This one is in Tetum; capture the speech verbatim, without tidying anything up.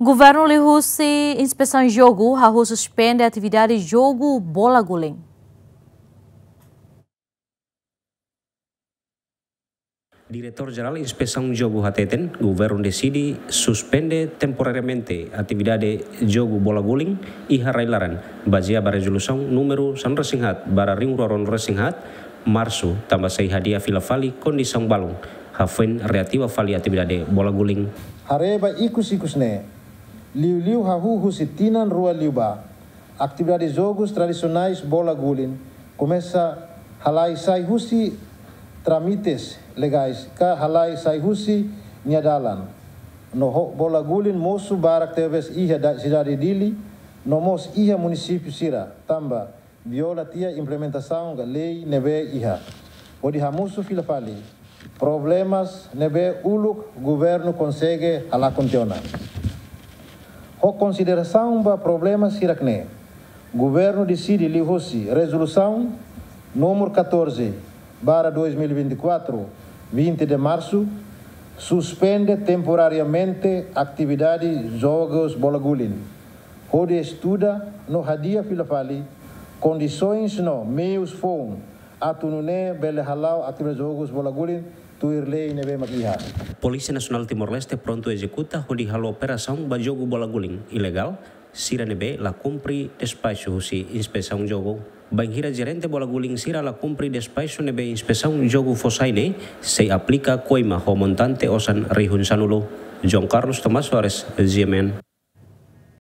Governu liuhusi Inspesaun Jogu hahú suspende atividade jogu bola guling. Diretór Jerál Inspesaun Jogu hateten, governu deside suspende temporariamente atividade jogu bola guling iha rai-laran, bazeia ba rezolusaun númeru sanulu-resin-haat barra rihun rua ruanulu-resin-haat, Marsu, tanba sei hadi'a fila fali kondisaun balun, hafoin reativa fali atividade bola guling. Haree ba ikus-ikus ne'e, liuliu hahú husi tinan rua liubá, atividade jogus tradisionais bola guling komesa halai sai husi trámites legais ka halai sai husi nia dalan. No ho bola guling mosu barak tebes iha da-, sidade Dili, no mós iha munisípiu sira, tanba viola tiha implementasaun ka lei ne'ebé iha, hodi hamosu fila fali problemas ne'ebé uluk governu konsege halakon tiha ona. Ho konsiderasaun ba problema sira-ne'e, governu deside liuhusi rezolusaun númeru catorze barra dois mil e vinte e quatro, vinte de março, suspende temporariamente atividade jogus bola guling, hodi estuda no hadi'a fila fali kondisoens no meius foun atu nune'e bele hala'o atividade jogus bola guling tuir lei ne'ebé mak iha. Polísia Nasionál Timor-Leste prontu ezekuta hodi halo operasaun ba jogu bola guling ilegál sira ne'ebé la kumpre despaxu husi Inspesaun Jogu. Bainhira jerente bola guling sira la kumpre despaxu ne'ebé Inspesaun Jogu fó sai ne'e, sei aplika koima ho montante osan rihun sanulu. João Carlos Tomás Soares, G M N.